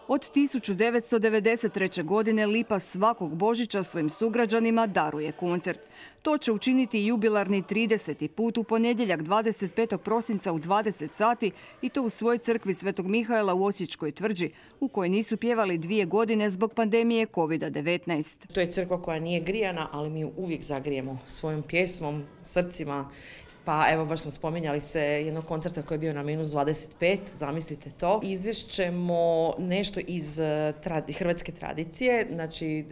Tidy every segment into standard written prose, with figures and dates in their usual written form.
Od 1993. godine Lipa svakog Božića svojim sugrađanima daruje koncert. To će učiniti jubilarni 30. put u ponedjeljak 25. prosinca u 20 sati i to u svojoj crkvi Svetog Mihaela u Osječkoj tvrđi, u kojoj nisu pjevali 2 godine zbog pandemije COVID-19. To je crkva koja nije grijana, ali mi ju uvijek zagrijemo svojom pjesmom, srcima. Pa evo, baš smo spominjali se jednog koncerta koji je bio na -25, zamislite to. Izvješćemo nešto iz hrvatske tradicije, znači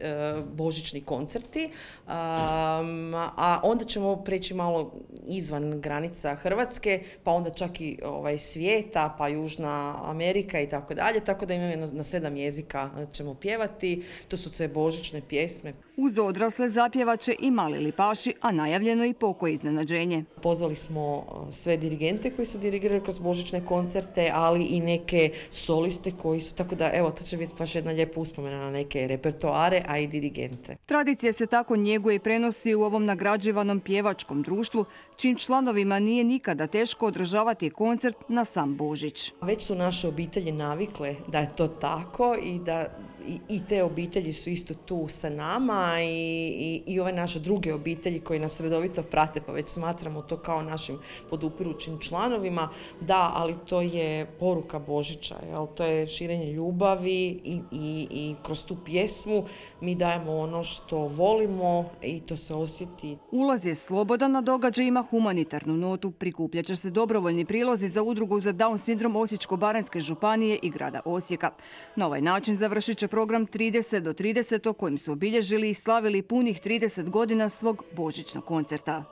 božićni koncerti, a onda ćemo preći malo izvan granica Hrvatske, pa onda čak i svijeta, pa Južna Amerika i tako dalje, tako da imamo na 7 jezika ćemo pjevati, to su sve božićne pjesme. Uz odrasle zapjevaće i mali lipaši, a najavljeno i pokoje iznenađenje. Pozvali smo sve dirigente koji su dirigirali kroz božićne koncerte, ali i neke soliste koji su, tako da evo, to će biti baš jedna lijepa uspomena na neke repertoare, a i dirigente. Tradicija se tako njeguje i prenosi u ovom nagrađivanom pjevačkom društvu, čim članovima nije nikada teško održavati koncert na sam Božić. Već su naše obitelji navikle da je to tako i da i te obitelji su isto tu sa nama i ove naše druge obitelji koji nas redovito prate, pa već smatramo to kao našim podupirućim članovima. Da, ali to je poruka Božića, jel? To je širenje ljubavi i kroz tu pjesmu mi dajemo ono što volimo i to se osjeti. Ulaz je slobodan, na događaj ima humanitarnu notu. Prikupljat će se dobrovoljni prilozi za udrugu za Down sindrom Osječko-baranjske županije i grada Osijeka. Na ovaj način završit će program 30 do 30 kojim su obilježili i slavili punih 30 godina svog božićnog koncerta.